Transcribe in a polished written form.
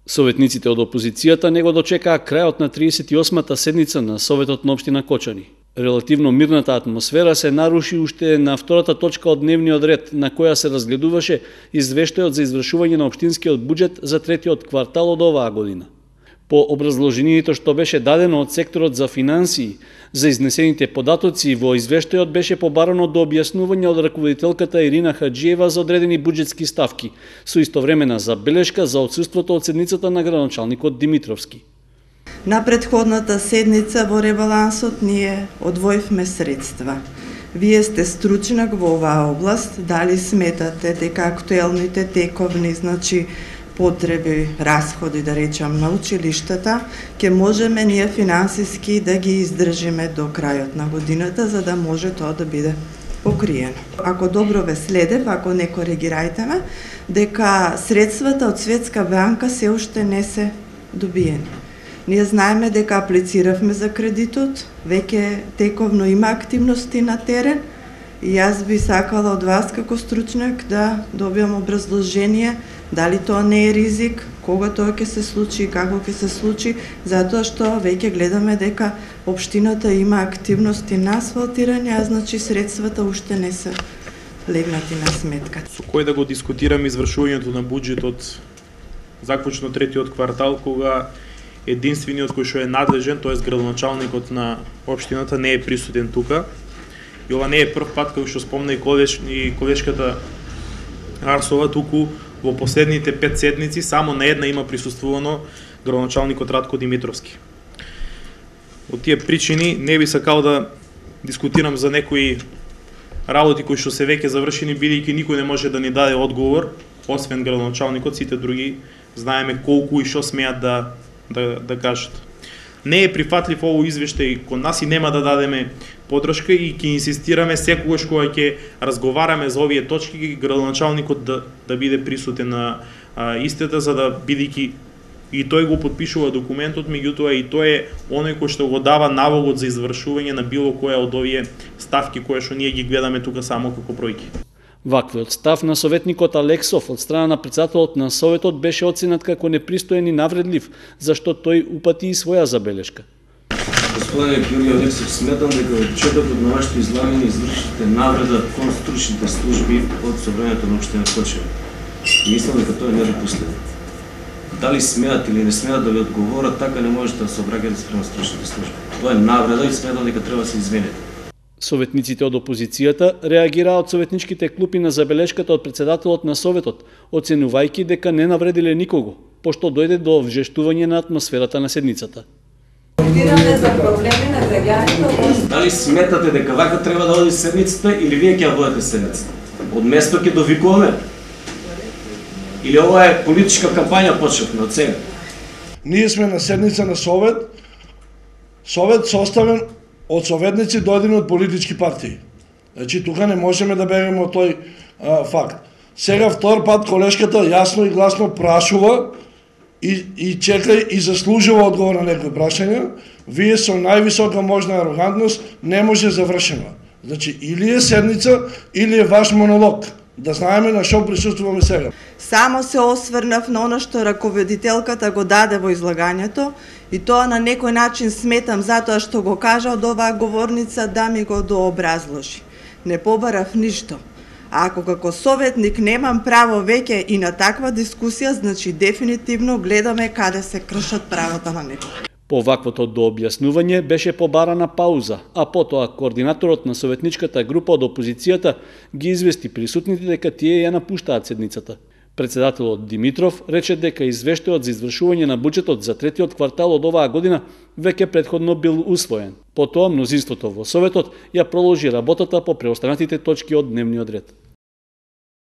Советниците од опозицијата не го дочекаа крајот на 38-та седница на Советот на општина Кочани. Релативно мирната атмосфера се наруши уште на втората точка од дневниот ред, на која се разгледуваше извештајот за извршување на општинскиот буџет за третиот квартал од оваа година. По образложението што беше дадено од секторот за финансии, за изнесените податоци во извештајот беше побарано до објаснување од раководителката Ирина Хаджиева за одредени буџетски ставки, со истовремена забелешка за отсуството од седницата на градоначалникот Димитровски. На претходната седница во ребалансот ние одвоивме средства. Вие сте стручнак во оваа област, дали сметате дека актуелните тековни, потреби, расходи, да речам, на училиштата, ќе можеме ние финансиски да ги издржиме до крајот на годината, за да може тоа да биде покриено. Ако добро ве следев, ако не коригирајте ме, дека средствата од Светска банка се уште не се добиени. Ние знаеме дека аплициравме за кредитот, веќе тековно има активности на терен и јас би сакала од вас како стручнак да добиам образложение дали тоа не е ризик, кога тоа ќе се случи и како ќе се случи, затоа што веќе гледаме дека општината има активности на асфалтирање, а значи средствата уште не се легнати на сметка. Со кој да го дискутираме извршувањето на буџетот заклучно третиот квартал, кога единствениот кој што е надлежен, тоест градоначалникот на општината, не е присутен тука. И ова не е прв пат, како што спомна и колешката Арсова, туку во последните 5 седници само на една има присуствувано градоначалникот Радко Димитровски. Од тие причини не би сакал да дискутирам за некои работи кои што се веќе завршени, бидејќи никој не може да ни даде одговор, освен градоначалникот, сите други знаеме колку и што смеат да кажат. Не е прифатлив овој извештај кон нас и нема да дадеме подршка и ќе инсистираме секогаш кога ќе разговараме за овие точки градоначалникот да биде присутен на истата, за да бидејќи и тој го потпишува документот, меѓутоа и тој е оној кој што го дава налогот за извршување на било која од овие ставки кои што ние ги гледаме тука само како бројки. Ваквиот став на советникот Алексов од страна на председателот на Советот беше оценет како непристоен и навредлив, зашто тој упати и своја забелешка. Господине Георги Алексов, сметам дека од четокот на вашето излагање извршите навреда кон стручните служби од собранието на општина Кочани. Мислам дека тоа е недопустимо. Дали смеат или не смеат да ви одговорат, така не можете да се обраќате спрема стручните служби. Тоа е навреда и сметам дека треба да се извините. Советниците од опозицијата реагираа од советничките клупи на забелешката од председателот на Советот, оценувајќи дека не навредиле никого, пошто дојде до вжештување на атмосферата на седницата. За проблеми на граѓаните. Дали сметате дека вака треба да оди седницата или вие ќе ја водите седницата? Од место ќе довикуваме? Или ова е политичка кампања почнавме од сега? Ние сме на седница на Совет. Совет составен од советници дојдени од политички партии. Значи, тука не можеме да бегаме од тој факт. Сега втор пат колешката јасно и гласно прашува и чека и заслужува одговор на некои прашања. Вие со највисока можна арогантност не може завршено. Значи, или е седница, или е ваш монолог. Да знаеме на што присуствуваме сега. Само се осврнав на оно што раководителката го даде во излагањето и тоа на некој начин сметам затоа што го кажа од оваа говорница да ми го дообразложи. Не побарав ништо. А ако како советник немам право веќе и на таква дискусија, значи дефинитивно гледаме каде се кршат правата на некој. По ваквото дообјаснување беше побарана пауза, а потоа координаторот на советничката група од опозицијата ги извести присутните дека тие ја напуштаат седницата. Председателот Димитров рече дека извештајот за извршување на буџетот за третиот квартал од оваа година веќе претходно бил усвоен. Потоа мнозинството во Советот ја проложи работата по преостанатите точки од дневниот ред.